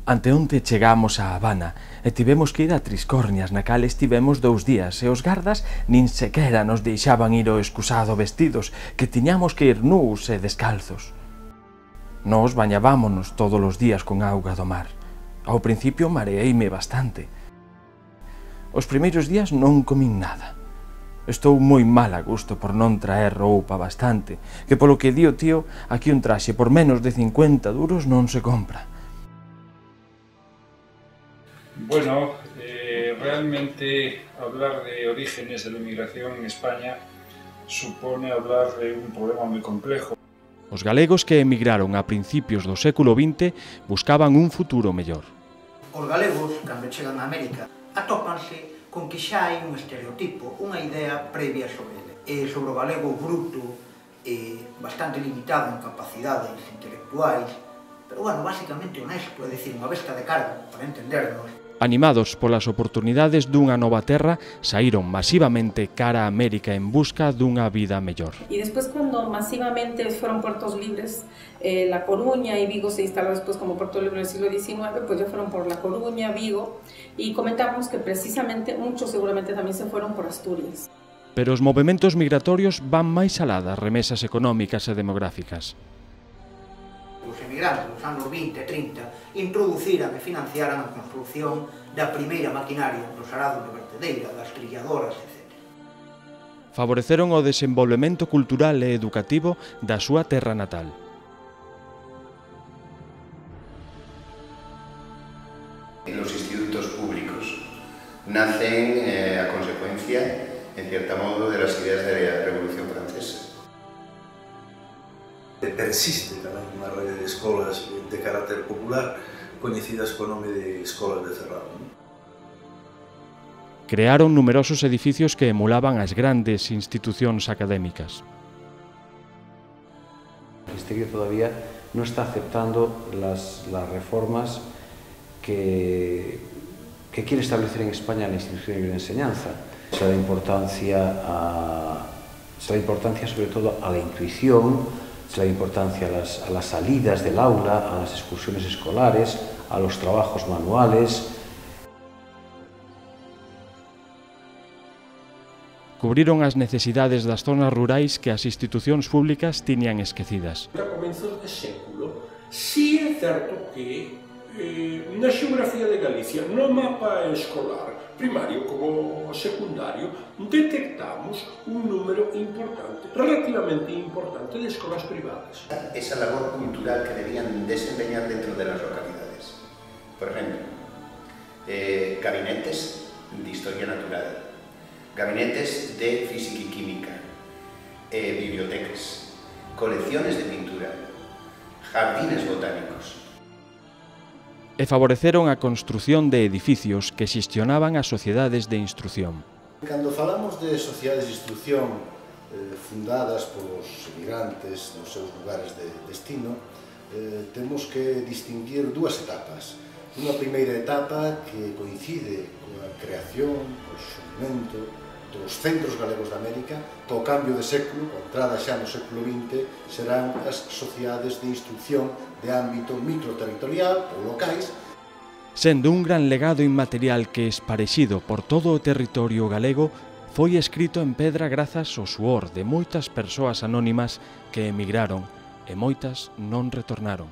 Anteonte chegamos a Habana e tivemos que ir a Triscornias, na cal estivemos 2 días, e os gardas nin sequera nos deixaban ir ao excusado vestidos, que tiñamos que ir nus e descalzos. Nos bañábámonos todos os días con auga do mar. Ao principio mareeime bastante. Os primeiros días non comín nada. Estou moi mal a gusto por non traer roupa bastante, que polo que di o tío, aquí un traxe por menos de 50 duros non se compra. Bueno, realmente hablar de orígenes de la inmigración en España supone hablar de un problema moi complejo. Os galegos que emigraron a principios do século XX buscaban un futuro mellor. Os galegos, cando chegan a América, atópanse con que xa hai un estereotipo, unha idea previa sobre ele. E sobre o galego bruto, bastante limitado en capacidades intelectuais, pero, bueno, basicamente honesto, é dicir, unha besta de cargo, para entendernos. Animados polas oportunidades dunha nova terra, saíron masivamente cara a América en busca dunha vida mellor. Y después, cuando masivamente fueron puertos libres, La Coruña y Vigo se instalaron después como puerto libre del siglo XIX, pues ya fueron por La Coruña, Vigo, y comentamos que precisamente muchos seguramente también se fueron por Asturias. Pero os movementos migratorios van máis alá das remesas económicas e demográficas. Os emigrantes dos anos 20 e 30 introduciran e financiaran a construción da primeira maquinaria dos arados de vertedeira, das trilladoras, etc. Favoreceron o desenvolvemento cultural e educativo da súa terra natal. Los institutos públicos nacen a consecuencia, en cierto modo, de las ideas de la Revolución Francesa. Persiste tamén unha rede de escolas de carácter popular coñecidas co nome de Escolas de Ferrol. Crearon numerosos edificios que emulaban as grandes institucións académicas. El Ministerio todavía no está aceptando las reformas que quiere establecer en España la institución de enseñanza. Se da importancia sobre todo a la intuición, se da importancia a las salidas del aula, a las excursiones escolares, a los trabajos manuales. Cubriron as necesidades das zonas rurais que as institucións públicas tiñan esquecidas. A comenzos de século, sí é certo que na xeografía de Galicia, no mapa escolar, primario como secundario, detectamos un número importante, relativamente importante, de escolas privadas. Esa labor cultural que debían desempeñar dentro de las localidades. Por ejemplo, gabinetes de historia natural, gabinetes de física y química, bibliotecas, colecciones de pintura, jardines botánicos. E favoreceron a construción de edificios que xestionaban as sociedades de instrución. Cando falamos de sociedades de instrución fundadas polos emigrantes nos seus lugares de destino, temos que distinguir dúas etapas. Unha primeira etapa que coincide coa creación, co surgimento dos centros galegos de América, co cambio de século, coa entrada xa no século XX, serán as sociedades de instrucción de ámbito microterritorial ou locais. Sendo un gran legado inmaterial que esparexido por todo o territorio galego, foi escrito en pedra grazas ao suor de moitas persoas anónimas que emigraron e moitas non retornaron.